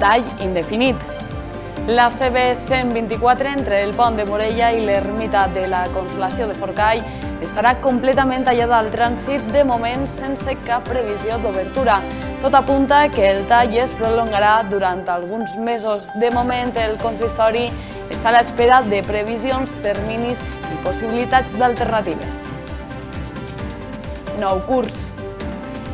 tall indefinit. La CB124 entre el pont de Morella i l'ermita de la Consolació de Forcall estarà completament tallada al trànsit, de moment sense cap previsió d'obertura. Tot apunta que el tall es prolongarà durant alguns mesos. De moment, el consistori està a l'espera de previsions, terminis i possibilitats d'alternatives. Nou curs.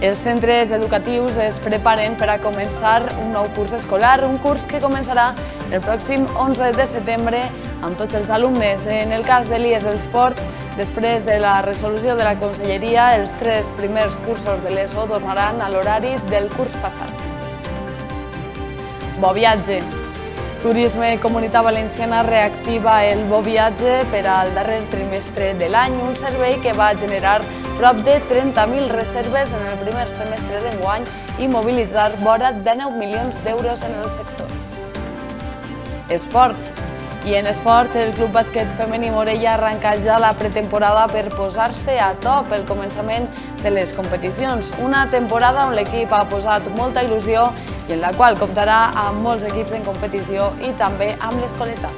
Els centres educatius es preparen per a començar un nou curs escolar, un curs que començarà el pròxim 11 de setembre amb tots els alumnes. En el cas de l'IES Els Ports, després de la resolució de la Conselleria, els 3 primers cursos de l'ESO tornaran a l'horari del curs passat. Bo viatge. Turisme Comunitat Valenciana reactiva el Bo Viatge per al darrer trimestre de l'any, un servei que va generar prop de 30.000 reserves en el primer semestre d'enguany i mobilitzar vora de 9 milions d'euros en el sector. Esports. I en esports, el Club Bàsquet Femení Morella arrenca ja la pretemporada per posar-se a to pel començament de les competicions. Una temporada on l'equip ha posat molta il·lusió i en la qual comptarà amb molts equips en competició i també amb l'Escoleta.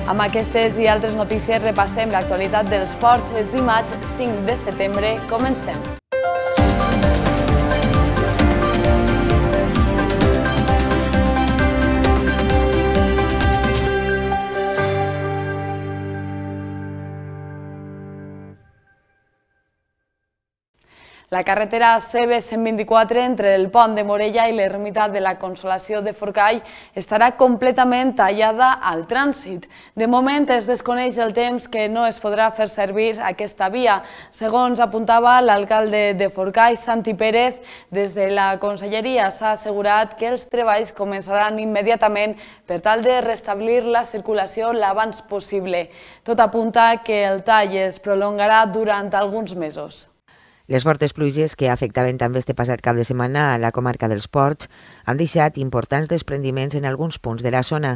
Amb aquestes i altres notícies repassem l'actualitat dels ports. És dimarts 5 de setembre. Comencem. La carretera CB124 entre el pont de Morella i l'ermita de la Consolació de Forcall estarà completament tallada al trànsit. De moment es desconeix el temps que no es podrà fer servir aquesta via. Segons apuntava l'alcalde de Forcall, Santi Pérez, des de la Conselleria s'ha assegurat que els treballs començaran immediatament per tal de restablir la circulació l'abans possible. Tot apunta que el tall es prolongarà durant alguns mesos. Les fortes pluges que afectaven també este passat cap de setmana a la comarca dels Ports han deixat importants desprendiments en alguns punts de la zona.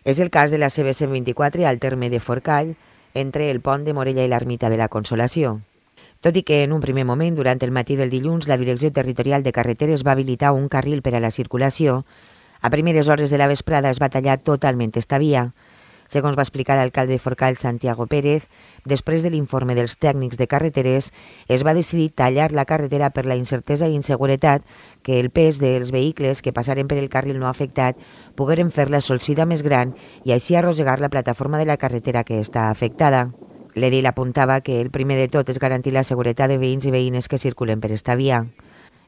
És el cas de la CB124 al terme de Forcall, entre el pont de Morella i l'ermita de la Consolació. Tot i que en un primer moment, durant el matí del dilluns, la Direcció Territorial de Carreteres va habilitar un carril per a la circulació, a primeres hores de la vesprada es va tallar totalment esta via. Segons va explicar l'alcalde de Forcall, Santiago Pérez, després de l'informe dels tècnics de carreteres, es va decidir tallar la carretera per la incertesa i inseguretat que el pes dels vehicles que passaren per el carril no afectat pogueren fer la solsida més gran i així arrossegar la plataforma de la carretera que està afectada. L'edil apuntava que el primer de tot és garantir la seguretat de veïns i veïnes que circulen per esta via.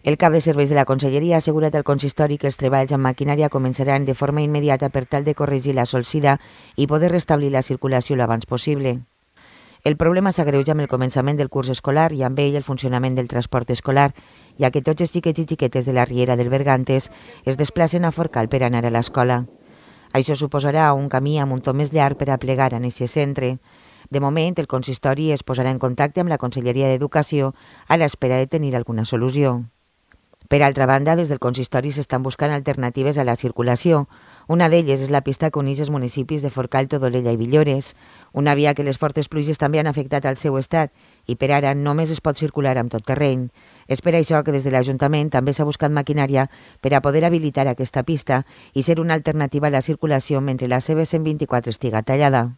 El cap de serveis de la Conselleria ha assegurat al consistori que els treballs amb maquinària començaran de forma immediata per tal de corregir la solsida i poder restablir la circulació l'abans possible. El problema s'agreuja amb el començament del curs escolar i amb ell el funcionament del transport escolar, ja que tots els xiquets i xiquetes de la Riera del Bergantes es desplacen a Forcall per anar a l'escola. Això suposarà un camí amb un to més llarg per a plegar en aquest centre. De moment, el consistori es posarà en contacte amb la Conselleria d'Educació a l'espera de tenir alguna solució. Per altra banda, des del consistori s'estan buscant alternatives a la circulació. Una d'elles és la pista que uneix els municipis de Forcall, Todolella i Villores, una via que les fortes pluges també han afectat al seu estat i per ara només es pot circular amb tot terreny. És per això que des de l'Ajuntament també s'ha buscat maquinària per a poder habilitar aquesta pista i ser una alternativa a la circulació mentre la CB124 estiga tallada.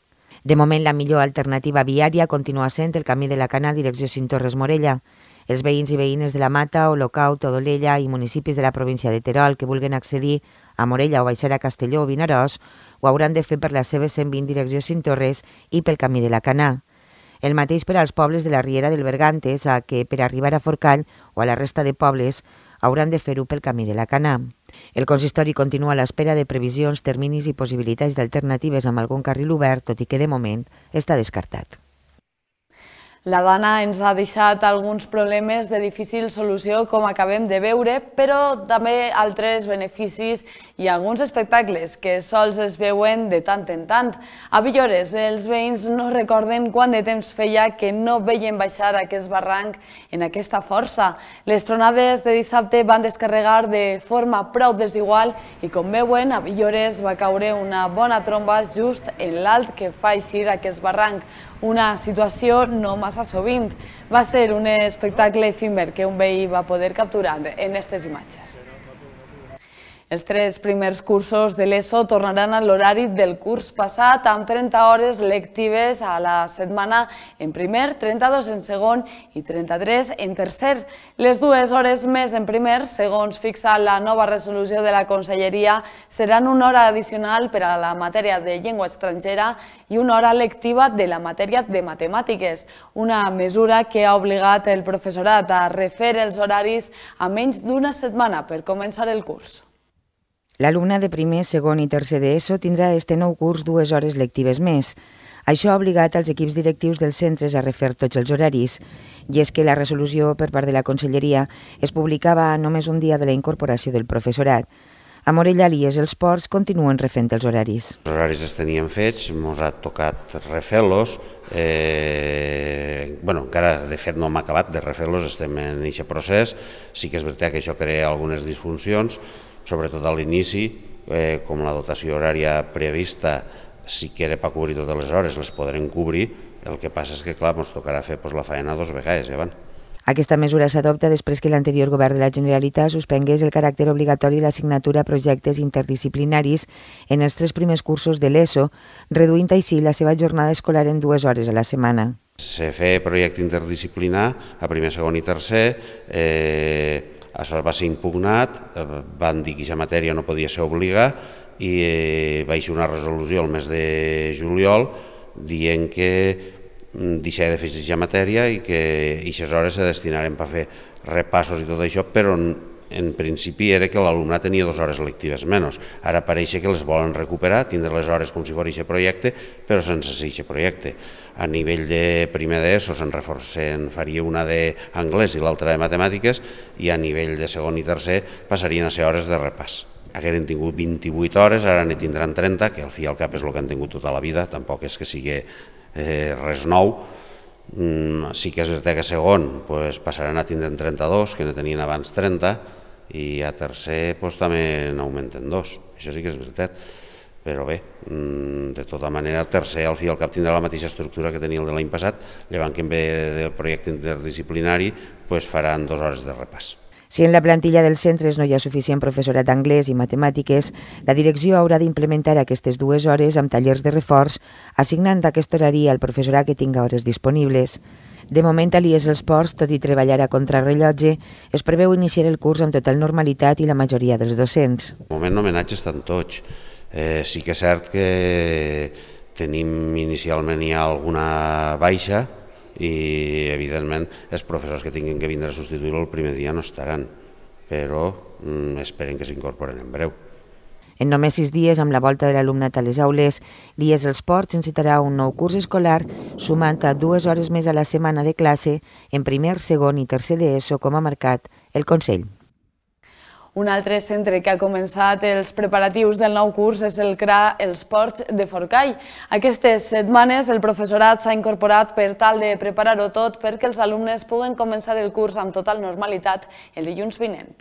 De moment, la millor alternativa viària continua sent el camí de la Cana direcció Cintorres-Morella. Els veïns i veïnes de la Mata, Olocau, Todolella i municipis de la província de Terol que vulguen accedir a Morella o baixar a Castelló o Vinaròs ho hauran de fer per la CB120 direcció Cintorres i pel camí de la Canà. El mateix per als pobles de la Riera del Bergantes, a que per arribar a Forcall o a la resta de pobles hauran de fer-ho pel camí de la Canà. El consistori continua a l'espera de previsions, terminis i possibilitats d'alternatives amb algun carril obert, tot i que de moment està descartat. La Dana ens ha deixat alguns problemes de difícil solució, com acabem de veure, però també altres beneficis i alguns espectacles que sols es veuen de tant en tant. A Villores, els veïns no recorden quant de temps feia que no veien baixar aquest barranc en aquesta força. Les tronades de dissabte van descarregar de forma prou desigual i, com veuen, a Villores va caure una bona tromba just en l'alt que fa eixir aquest barranc. Una situació no massa sovint. Va ser un espectacle efímer que un veí va poder capturar en aquestes imatges. Els 3 primers cursos de l'ESO tornaran a l'horari del curs passat amb 30 hores lectives a la setmana en primer, 32 en segon i 33 en tercer. Les 2 hores més en primer, segons fixa la nova resolució de la Conselleria, seran una hora addicional per a la matèria de llengua estrangera i una hora lectiva de la matèria de matemàtiques, una mesura que ha obligat el professorat a refer els horaris a menys d'una setmana per començar el curs. L'alumne de primer, segon i tercer d'ESO tindrà este nou curs 2 hores lectives més. Això ha obligat els equips directius dels centres a refer tots els horaris. I és que la resolució per part de la Conselleria es publicava només un dia de la incorporació del professorat. A Morella, l'IES els Ports continuen refent els horaris. Els horaris els teníem fets, ens ha tocat refer-los. Encara, de fet, no hem acabat de refer-los, estem en aquest procés. Sí que és veritat que això crea algunes disfuncions, sobretot a l'inici, com la dotació horària prevista, si que era per cobrir totes les hores, les podrem cobrir. El que passa és que, clar, ens tocarà fer la feina 2 vegades, Aquesta mesura s'adopta després que l'anterior govern de la Generalitat suspengués el caràcter obligatori i l'assignatura a projectes interdisciplinaris en els 3 primers cursos de l'ESO, reduint així la seva jornada escolar en 2 hores a la setmana. Se feia projecte interdisciplinar a primer, segon i tercer, això va ser impugnat, van dir que aquesta matèria no podia ser obliga i va eixir una resolució el mes de juliol dient que deixava de fer aquesta matèria i que aquestes hores se destinaren per fer repassos i tot això, però en principi era que l'alumnat tenia 2 hores lectives menys. Ara pareix que les volen recuperar, tindre les hores com si fos aquest projecte, però sense ser aquest projecte. A nivell de primer d'ESO se'n faria una d'anglès i l'altra de matemàtiques, i a nivell de segon i tercer passarien a ser hores de repàs. Hagueren tingut 28 hores, ara ne tindran 30, que al fi i al cap és el que han tingut tota la vida, tampoc és que sigui res nou. Sí que és veritat que a segon passaran a tindre 32, que ne tenien abans 30, i a tercer també n'augmenten 2, això sí que és veritat. Però bé, de tota manera, el tercer al fi i al cap tindrà la mateixa estructura que tenia el de l'any passat, llevant que en vez del projecte interdisciplinari faran 2 hores de repàs. Si en la plantilla dels centres no hi ha suficient professorat d'anglès i matemàtiques, la direcció haurà d'implementar aquestes 2 hores amb tallers de reforç, assignant aquest horari al professorat que tinga hores disponibles. De moment, a l'IES Els Ports, tot i treballar a contrarrellotge, es preveu iniciar el curs amb total normalitat i la majoria dels docents. De moment, homenatges estan tots. Sí que és cert que tenim inicialment ja alguna baixa, i evidentment els professors que tinguin que vindre a substituir-lo el primer dia no estaran, però esperen que s'incorporen en breu. En només 6 dies, amb la volta de l'alumnat a les aules, l'IES Els Ports encetarà un nou curs escolar sumant a 2 hores més a la setmana de classe en primer, segon i tercer d'ESO, com ha marcat el Consell. Un altre centre que ha començat els preparatius del nou curs és el CRA Els Ports de Forcall. Aquestes setmanes el professorat s'ha incorporat per tal de preparar-ho tot perquè els alumnes puguen començar el curs amb total normalitat el dilluns vinent.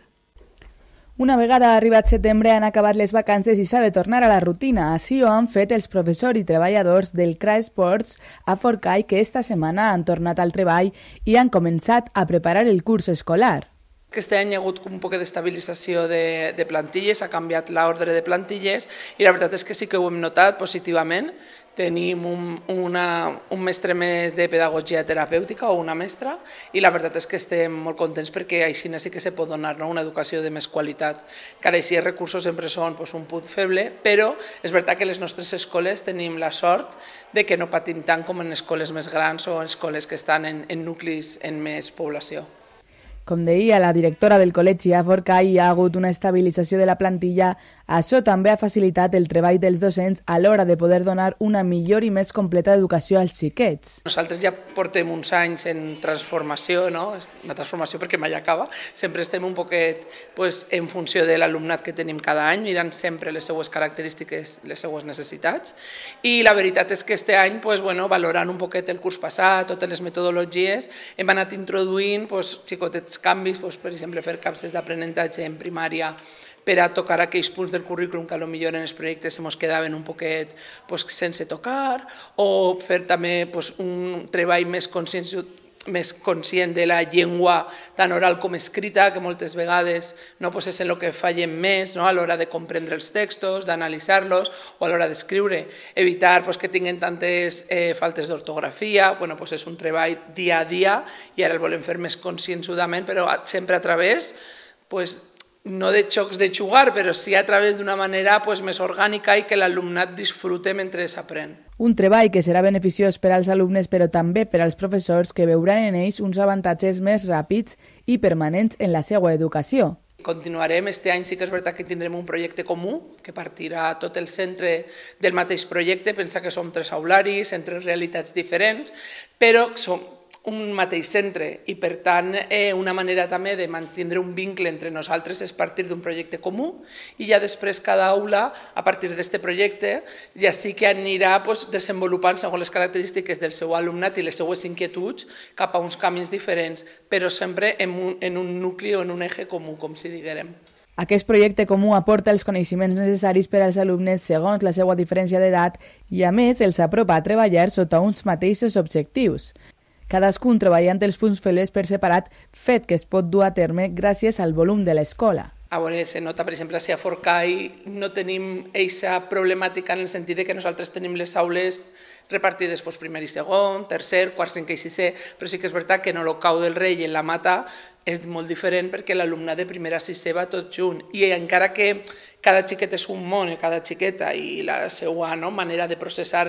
Una vegada arribat setembre han acabat les vacances i s'ha de tornar a la rutina. Així ho han fet els professors i treballadors del CRA Esports a Forcall, que esta setmana han tornat al treball i han començat a preparar el curs escolar. Aquest any hi ha hagut un poc d'estabilització de plantilles, ha canviat l'ordre de plantilles i la veritat és que sí que ho hem notat positivament. Tenim un mestre més de pedagogia terapèutica o una mestra i la veritat és que estem molt contents perquè així sí que se pot donar una educació de més qualitat. Encara així els recursos sempre són un punt feble, però és veritat que les nostres escoles tenim la sort de que no patim tant com en escoles més grans o en escoles que estan en nuclis amb més població. Com deia la directora del col·legi a Forcall, hi ha hagut una estabilització de la plantilla. Això també ha facilitat el treball dels docents a l'hora de poder donar una millor i més completa educació als xiquets. Nosaltres ja portem uns anys en transformació, una transformació perquè mai acaba. Sempre estem un poquet en funció de l'alumnat que tenim cada any, mirant sempre les seues característiques, les seues necessitats. I la veritat és que aquest any, valorant un poquet el curs passat, totes les metodologies, hem anat introduint xicotets canvis, per exemple, fer capses d'aprenentatge en primària per a tocar aquells punts del currículum que potser en els projectes ens quedaven un poquet sense tocar, o fer també un treball més més conscient de la llengua tant oral com escrita, que moltes vegades és en el que fallem més a l'hora de comprendre els textos, d'analitzar-los o a l'hora d'escriure. Evitar que tinguin tantes faltes d'ortografia, és un treball dia a dia i ara el volem fer més conscienzudament, però sempre a través no de xocs de jugar, però sí a través d'una manera més orgànica i que l'alumnat disfrute mentre s'aprèn. Un treball que serà beneficiós per als alumnes però també per als professors que veuran en ells uns avantatges més ràpids i permanents en la seva educació. Continuarem, este any sí que és veritat que tindrem un projecte comú que partirà tot el centre del mateix projecte, pensa que som 3 aularis en 3 realitats diferents, però som un mateix centre i per tant una manera també de mantenir un vincle entre nosaltres és partir d'un projecte comú i ja després cada aula a partir d'aquest projecte ja sí que anirà desenvolupant segons les característiques del seu alumnat i les seues inquietuds cap a uns camins diferents, però sempre en un nucli o en un eje comú, com si diguérem. Aquest projecte comú aporta els coneixements necessaris per als alumnes segons la seva diferència d'edat i a més els apropa a treballar sota uns mateixos objectius. Cadascun treballant els punts febles per separat, fet que es pot dur a terme gràcies al volum de l'escola. A veure, se nota, per exemple, si a Forcall no tenim aquesta problemàtica en el sentit que nosaltres tenim les aules repartides primer i segon, tercer, quart, cinquè i sisè, però sí que és veritat que en el Cau del Rei i en la Mata és molt diferent perquè l'alumnat de primer a sisè va tot junt i encara que cada xiquet és un món, cada xiqueta i la seva manera de processar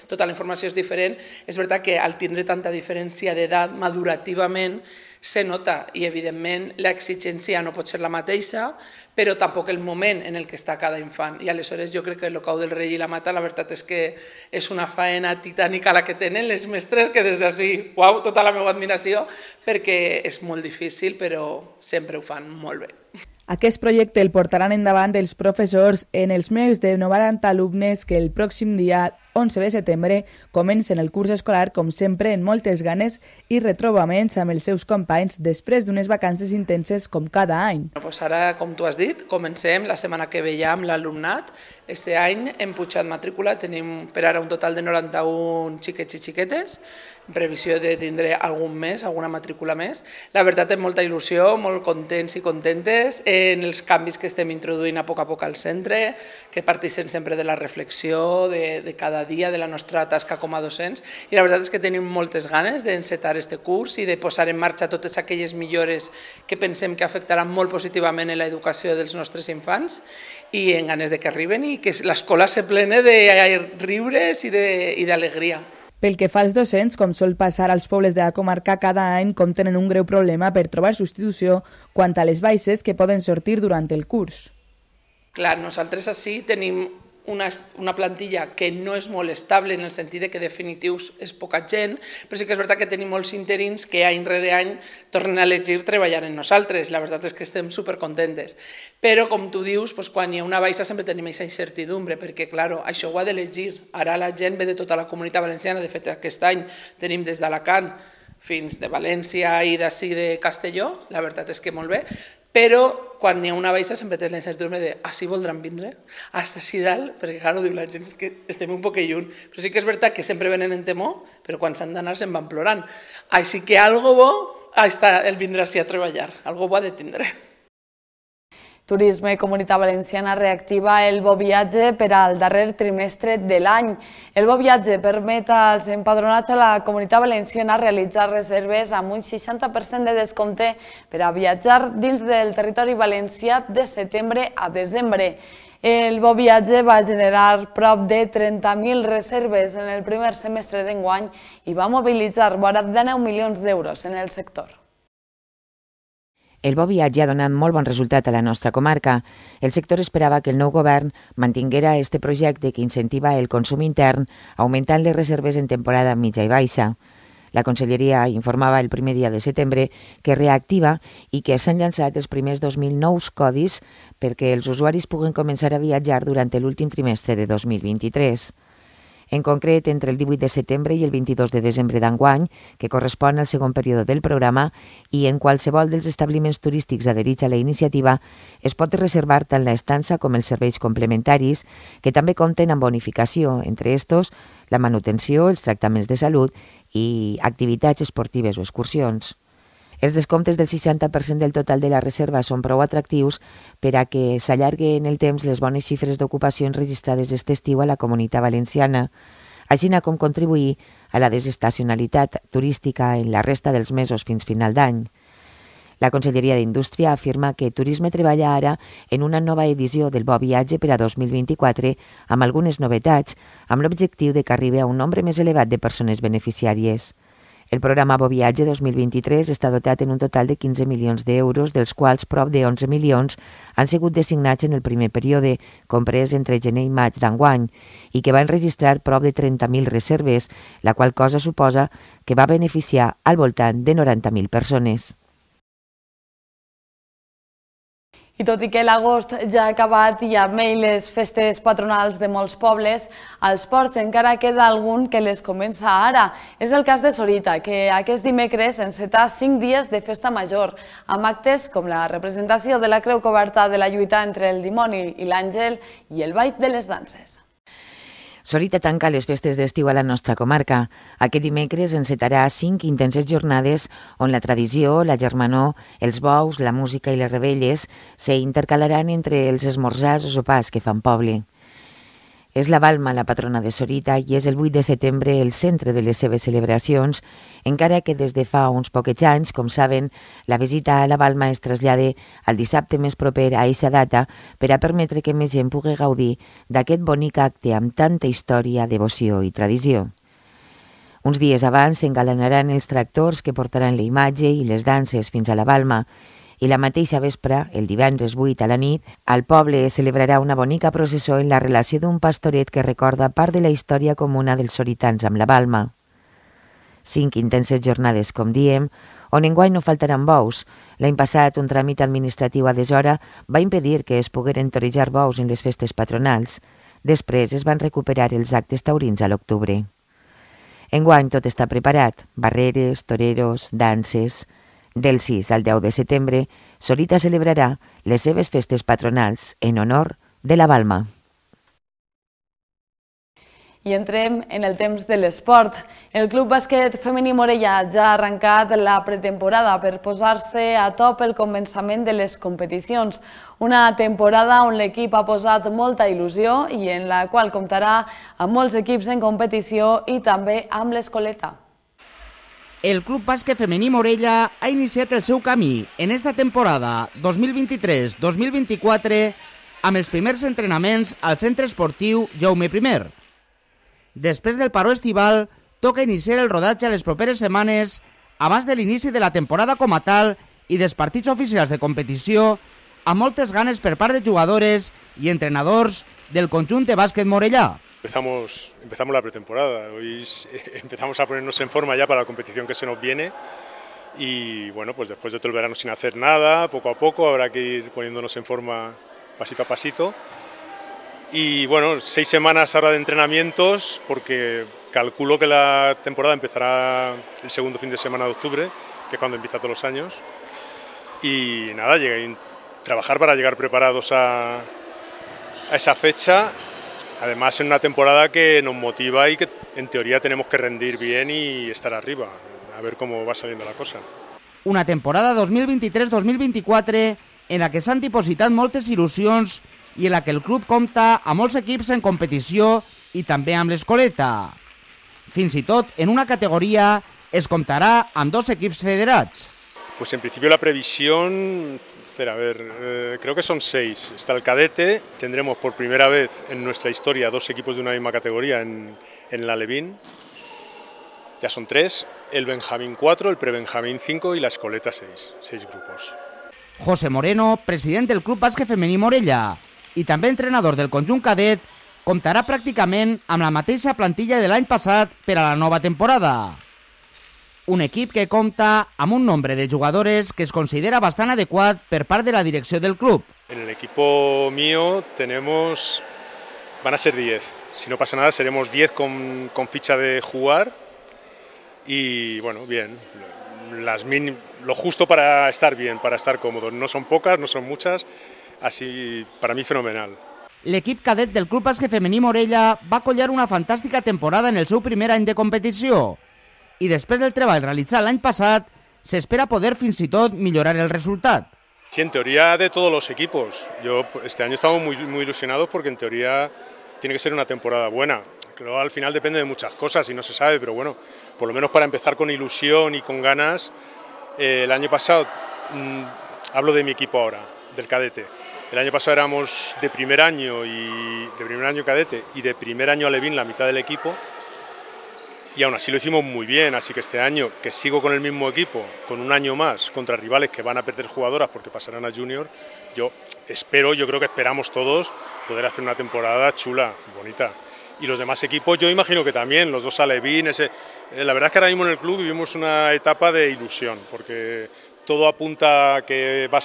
tota la informació és diferent, és veritat que al tindre tanta diferència d'edat madurativament se nota i evidentment l'exigència no pot ser la mateixa, però tampoc el moment en el que està cada infant. I aleshores jo crec que el Cau del Rei i la Mata la veritat és que és una faena titànica la que tenen les mestres, que des d'ací, uau, tota la meva admiració, perquè és molt difícil, però sempre ho fan molt bé. Aquest projecte el portaran endavant els professors en els més de 90 alumnes que el pròxim dia 11 de setembre comencen el curs escolar, com sempre, en moltes ganes i retrobaments amb els seus companys després d'unes vacances intenses com cada any. Ara, com tu has dit, comencem la setmana que ve ja amb l'alumnat. Este any hem pujat matrícula, tenim per ara un total de 91 xiquets i xiquetes, en previsió de tindre algun més, alguna matrícula més. La veritat, amb molta il·lusió, molt contents i contentes en els canvis que estem introduint a poc al centre, que parteixen sempre de la reflexió de cada dia, de la nostra tasca com a docents, i la veritat és que tenim moltes ganes d'encetar aquest curs i de posar en marxa totes aquelles millores que pensem que afectaran molt positivament en l'educació dels nostres infants i en ganes de que arriben i que l'escola se plene de riures i d'alegria. Pel que fa als docents, com sol passar als pobles de la comarca, cada any compten en un greu problema per trobar substitució quant a les baixes que poden sortir durant el curs. Clar, nosaltres així tenim una plantilla que no és molt estable en el sentit que definitius és poca gent, però sí que és veritat que tenim molts interins que any rere any tornen a elegir treballar en nosaltres. La veritat és que estem supercontentes. Però, com tu dius, quan hi ha una baixa sempre tenim aquesta incertidumbre, perquè, clar, això ho ha d'elegir. Ara la gent ve de tota la Comunitat Valenciana, de fet aquest any tenim des d'Alacant fins de València i d'ací de Castelló, la veritat és que molt bé, però quan hi ha una baixa sempre tens la incertidumbre de «ah, sí voldran vindre? Hasta així dalt?» Perquè, clar, diu la gent que estem un poc lluny. Però sí que és veritat que sempre venen en temor, però quan s'han d'anar se'n van plorant. Així que algo bo està el vindre així a treballar, algo bo ha de tindre. Turisme i Comunitat Valenciana reactiva el Bo Viatge per al darrer trimestre de l'any. El Bo Viatge permet als empadronats a la Comunitat Valenciana realitzar reserves amb un 60% de descompte per a viatjar dins del territori valencià de setembre a desembre. El Bo Viatge va generar prop de 30.000 reserves en el primer semestre d'enguany i va mobilitzar vora de 9 milions d'euros en el sector. El Bo Viatge ha donat molt bon resultat a la nostra comarca. El sector esperava que el nou govern mantinguera este projecte que incentiva el consum intern, augmentant les reserves en temporada mitja i baixa. La Conselleria informava el primer dia de setembre que reactiva i que s'han llançat els primers 2.000 nous codis perquè els usuaris puguen començar a viatjar durant l'últim trimestre de 2023. En concret, entre el 18 de setembre i el 22 de desembre d'enguany, que correspon al segon període del programa, i en qualsevol dels establiments turístics adherits a la iniciativa, es pot reservar tant l'estança com els serveis complementaris, que també compten amb bonificació, entre estos la manutenció, els tractaments de salut i activitats esportives o excursions. Els descomptes del 60% del total de la reserva són prou atractius per a que s'allarguen en el temps les bones xifres d'ocupacions registrades aquest estiu a la Comunitat Valenciana, així com contribuir a la desestacionalitat turística en la resta dels mesos fins final d'any. La Conselleria d'Indústria afirma que Turisme treballa ara en una nova edició del Bo Viatge per a 2024 amb algunes novetats, amb l'objectiu de que arribi a un nombre més elevat de persones beneficiàries. El programa Bo Viatge 2023 està dotat en un total de 15 milions d'euros, dels quals prop de 11 milions han sigut designats en el primer període, comprès entre gener i maig d'enguany, i que va enregistrar prop de 30.000 reserves, la qual cosa suposa que va beneficiar al voltant de 90.000 persones. I tot i que l'agost ja ha acabat i amb ell les festes patronals de molts pobles, als ports encara queda algun que les comença ara. És el cas de Sorita, que aquest dimecres enceta 5 dies de festa major, amb actes com la representació de la creu coberta de la lluita entre el dimoni i l'àngel i el ball de les danses. Sorita tanca les festes d'estiu a la nostra comarca. Aquest dimecres encetarà 5 intenses jornades on la tradició, la germanor, els bous, la música i les rebelles s'intercalaran entre els esmorzars o sopars que fan poble. És la Balma la patrona de Sorita i és el 8 de setembre el centre de les seves celebracions, encara que des de fa uns poquets anys, com saben, la visita a la Balma es trasllada al dissabte més proper a aquesta data per a permetre que més gent pugui gaudir d'aquest bonic acte amb tanta història, devoció i tradició. Uns dies abans s'engalanaran els tractors que portaran la imatge i les danses fins a la Balma, i la mateixa vespre, el divendres 8 a la nit, al poble es celebrarà una bonica processó en la relació d'un pastoret que recorda part de la història comuna dels soritans amb la Balma. 5 intenses jornades, com diem, on enguany no faltaran bous. L'any passat, un tràmit administratiu a deshora va impedir que es pogueren torejar bous en les festes patronals. Després es van recuperar els actes taurins a l'octubre. Enguany tot està preparat, barreres, toreros, danses. Del 6 al 10 de setembre, Sorita celebrarà les seves festes patronals en honor de la Balma. I entrem en el temps de l'esport. El Club Bàsquet Femení Morella ja ha arrencat la pretemporada per posar-se a top el començament de les competicions. Una temporada on l'equip ha posat molta il·lusió i en la qual comptarà amb molts equips en competició i també amb l'Escoleta. El Club Bàsquet Femení Morella ha iniciat el seu camí en esta temporada 2023-2024 amb els primers entrenaments al centre esportiu Jaume I. Després del paró estival, toca iniciar el rodatge a les properes setmanes abans de l'inici de la temporada com a tal i dels partits oficials de competició amb moltes ganes per part de jugadores i entrenadors del conjunt de bàsquet morellà. Empezamos la pretemporada, hoy empezamos a ponernos en forma ya para la competición que se nos viene y bueno, pues después de todo el verano sin hacer nada, poco a poco habrá que ir poniéndonos en forma pasito a pasito y bueno, 6 semanas ahora de entrenamientos porque calculo que la temporada empezará el segundo fin de semana de octubre, que es cuando empieza todos los años y nada, trabajar para llegar preparados a esa fecha. Además, en una temporada que nos motiva y que en teoría tenemos que rendir bien y estar arriba, a ver cómo va saliendo la cosa. Una temporada 2023-2024 en la que s'han dipositat moltes il·lusions i en la que el club compta amb molts equips en competició i també amb l'Escoleta. Fins i tot, en una categoria es comptarà amb 2 equips federats. Pues en principio la previsión... creo que son 6. Está el cadete, tendremos por primera vez en nuestra historia 2 equipos de una misma categoría en la Alevín. Ya son 3, el Benjamín 4, el Prebenjamín 5 y la Escoleta 6 grupos. José Moreno, president del Club Bàsquet Femení Morella i també entrenador del conjunt cadet, comptarà pràcticament amb la mateixa plantilla de l'any passat per a la nova temporada. Un equip que compta amb un nombre de jugadores que es considera bastant adequat per part de la direcció del club. En el equipo mío van a ser 10. Si no pasa nada seremos 10 con ficha de jugar y bueno, bien, lo justo para estar bien, para estar cómodos. No son pocas, no son muchas, así para mí fenomenal. L'equip cadet del Club Bàsquet Femení Morella va collar una fantàstica temporada en el seu primer any de competició. i després del treball realitzat l'any passat, s'espera poder fins i tot millorar el resultat. Sí, en teoría de todos los equipos. Este año estamos muy ilusionados porque en teoría tiene que ser una temporada buena. Luego al final depende de muchas cosas y no se sabe, pero bueno, por lo menos para empezar con ilusión y con ganas. El año pasado, hablo de mi equipo ahora, del cadete. El año pasado éramos de primer año cadete y de primer año alevín la mitad del equipo. Y aún así lo hicimos muy bien, así que este año que sigo con el mismo equipo, con un año más, contra rivales que van a perder jugadoras porque pasarán a Junior, yo creo que esperamos todos poder hacer una temporada chula, bonita. Y los demás equipos, yo imagino que también, los dos alevín, la verdad es que ahora mismo en el club vivimos una etapa de ilusión, porque todo apunta a que van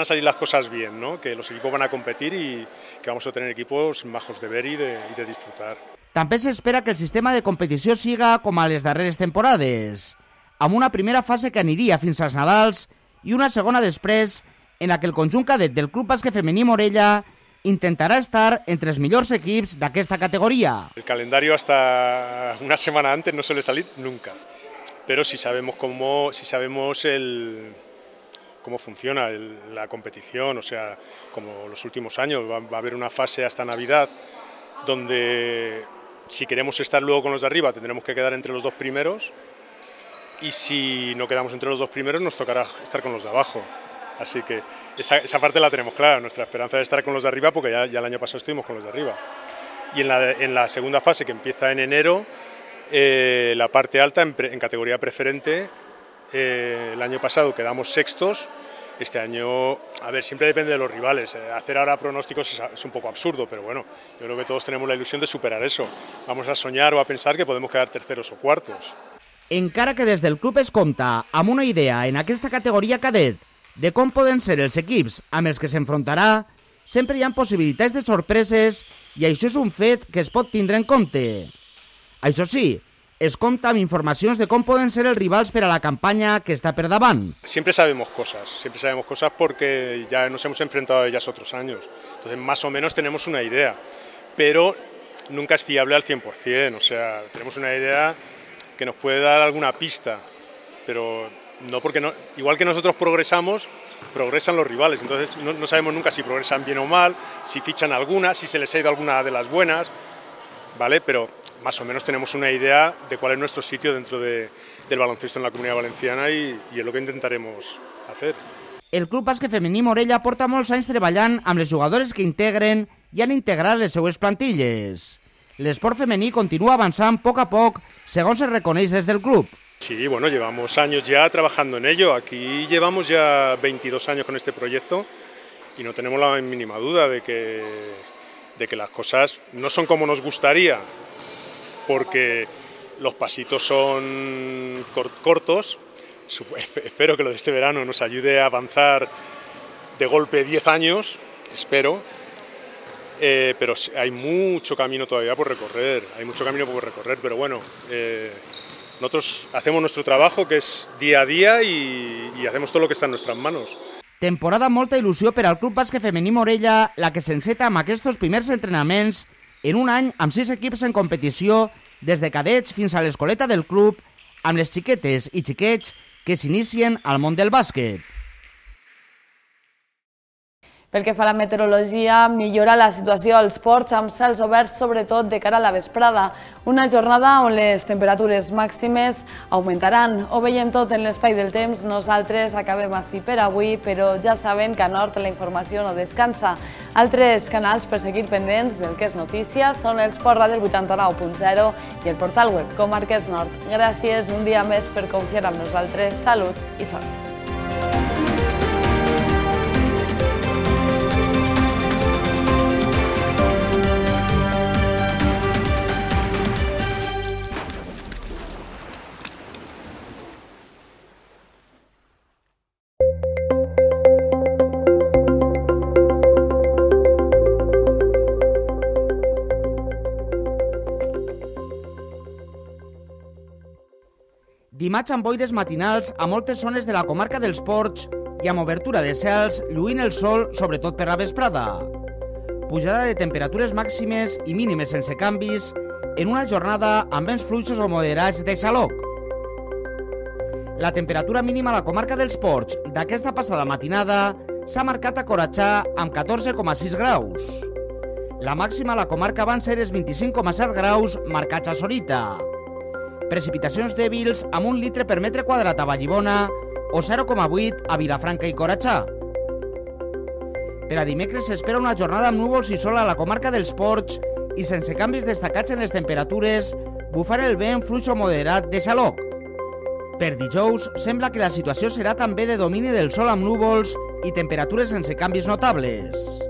a salir las cosas bien, ¿no? Que los equipos van a competir y que vamos a tener equipos majos de ver y de disfrutar. També s'espera que el sistema de competició siga com a les darreres temporades, amb una primera fase que aniria fins als Nadals i una segona després en la que el conjunt cadet del Club Bàsquet Femení Morella intentarà estar entre els millors equips d'aquesta categoria. El calendario hasta una semana antes no suele salir nunca, pero si sabemos cómo funciona la competición, o sea, como los últimos años, va a haber una fase hasta Navidad donde si queremos estar luego con los de arriba tendremos que quedar entre los dos primeros y si no quedamos entre los dos primeros nos tocará estar con los de abajo. Así que esa parte la tenemos clara, nuestra esperanza es estar con los de arriba porque ya el año pasado estuvimos con los de arriba. Y en la segunda fase que empieza en enero, la parte alta en categoría preferente, el año pasado quedamos sextos. Este año, a ver, siempre depende de los rivales. Hacer ahora pronósticos es un poco absurdo, pero bueno, yo creo que todos tenemos la ilusión de superar eso. Vamos a soñar o a pensar que podemos quedar terceros o cuartos. Encara que des del club es compta amb una idea en aquesta categoria cadet de com poden ser els equips amb els que s'enfrontarà, sempre hi ha possibilitats de sorpreses i això és un fet que es pot tindre en compte. Això sí, es compta amb informacions de com poden ser els rivals per a la campanya que està per davant. Siempre sabemos cosas porque ya nos hemos enfrentado a ellas otros años. Entonces, más o menos tenemos una idea, pero nunca es fiable al 100%. O sea, tenemos una idea que nos puede dar alguna pista, pero no porque no. Igual que nosotros progresamos, progresan los rivales. Entonces, no sabemos nunca si progresan bien o mal, si fichan alguna, si se les ha ido alguna de las buenas, ¿vale? Pero más o menos tenemos una idea de cuál es nuestro sitio dentro del baloncesto en la Comunidad Valenciana y es lo que intentaremos hacer. El Club Bàsquet Femení Morella porta molts anys treballant amb les jugadores que integren i han integrat les seues plantilles. L'esport femení continua avançant a poc, segons es reconeix des del club. Sí, bueno, llevamos años ya trabajando en ello. Aquí llevamos ya 22 años con este proyecto y no tenemos la mínima duda de que las cosas no son como nos gustaría, porque los pasitos son cortos. Espero que lo de este verano nos ayude a avanzar de golpe 10 años, espero, pero hay mucho camino todavía por recorrer, pero bueno, nosotros hacemos nuestro trabajo, que es día a día, y hacemos todo lo que está en nuestras manos. Temporada amb molta il·lusió per al Club Bàsquet Femení Morella, la que s'enceta amb aquests primers entrenaments en un any amb 6 equips en competició, des de cadets fins a l'escoleta del club, amb les xiquetes i xiquets que s'inicien al món del bàsquet. Pel que fa a la meteorologia, millora la situació als ports amb cels oberts, sobretot de cara a la vesprada. Una jornada on les temperatures màximes augmentaran. Ho veiem tot en l'espai del temps. Nosaltres acabem així per avui, però ja saben que a Nord la informació no descansa. Altres canals per seguir pendents del que és notícia són el Sport Ràdio 89.0 i el portal web Comarques Nord. Gràcies un dia més per confiar en nosaltres. Salut i sort. Dimarts amb boires matinals a moltes zones de la comarca dels Ports i amb obertura de cels, lluint el sol, sobretot per la vesprada. Pujada de temperatures màximes i mínimes sense canvis en una jornada amb vents fluixos o moderats de xaloc. La temperatura mínima a la comarca dels Ports d'aquesta passada matinada s'ha marcat a Coratxà amb 14,6 graus. La màxima a la comarca van ser els 25,7 graus marcats a Sorita. Precipitacions dèbils amb 1 litre per metre quadrat a Vallibona o 0,8 a Vilafranca i Coratxà. Per a dimecres s'espera una jornada amb núvols i sol a la comarca dels Ports i sense canvis destacats en les temperatures, bufar el vent fluix o moderat de xaloc. Per dijous, sembla que la situació serà també de domini del sol amb núvols i temperatures sense canvis notables.